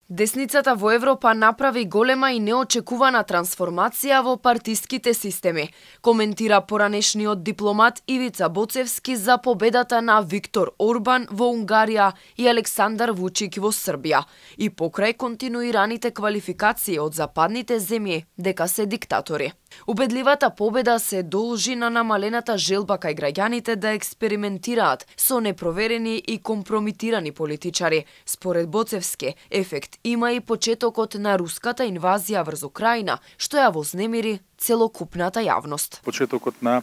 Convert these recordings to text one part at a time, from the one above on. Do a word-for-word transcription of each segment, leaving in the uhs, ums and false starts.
Десницата во Европа направи голема и неочекувана трансформација во партиските системи, коментира поранешниот дипломат Ивица Боцевски за победата на Виктор Орбан во Унгарија и Александар Вучик во Србија, и покрај континуираните квалификации од западните земји дека се диктатори. Убедливата победа се должи на намалената желба кај граѓаните да експериментираат со непроверени и компрометирани политичари. Според Боцевски, ефект има и почетокот на руската инвазија врз Украина, што ја вознемири целокупната јавност. Почетокот на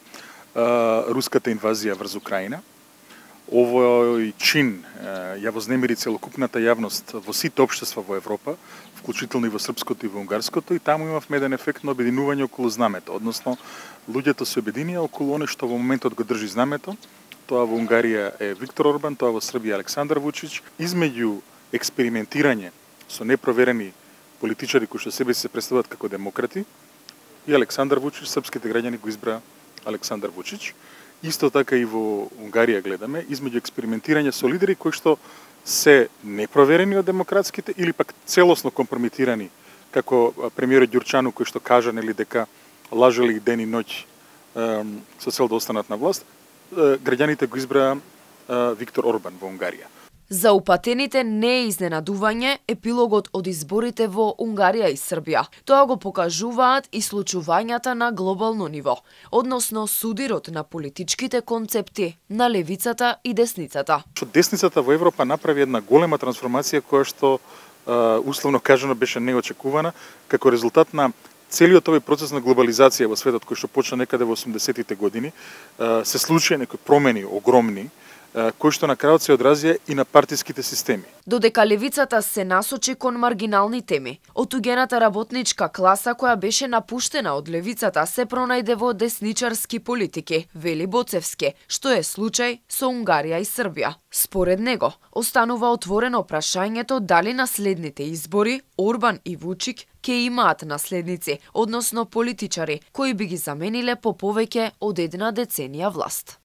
а, руската инвазија врз Украина. Овој чин а, ја вознемири целокупната јавност во сите општества во Европа, вклучително и во српското и во унгарското, и таму имавме еден ефект на обединување околу знамето, односно луѓето се обединија околу оно што во моментот го држи знамето. Тоа во Унгарија е Виктор Орбан, тоа во Србија Александар Вучич. Измеѓу експериментирање со непроверени политичари кои што себе се представуваат како демократи, и Александар Вучич, српските граѓани го избра Александар Вучич. Исто така и во Унгарија гледаме, измеѓу експериментирање со лидери кои што се непроверени од демократските или пак целосно компрометирани, како премиерот Ѓурчану кој што кажа нели дека лажели ден и ноќ со цел да останат на власт, граѓаните го избра Виктор Орбан во Унгарија. За упатените не е изненадување епилогот од изборите во Унгарија и Србија. Тоа го покажуваат и случувањата на глобално ниво, односно судирот на политичките концепти на левицата и десницата. Десницата во Европа направи една голема трансформација која што условно кажано беше неочекувана како резултат на целиот овој процес на глобализација во светот кој што почна некаде во осумдесетите години. Се случија некои промени огромни кој што на крајот се одразија и на партиските системи. Додека левицата се насочи кон маргинални теми, отугената работничка класа која беше напуштена од левицата се пронајде во десничарски политики, вели Боцевски, што е случај со Унгарија и Србија. Според него, останува отворено прашањето дали на следните избори Орбан и Вучик ќе имаат наследници, односно политичари, кои би ги замениле по повеќе од една деценија власт.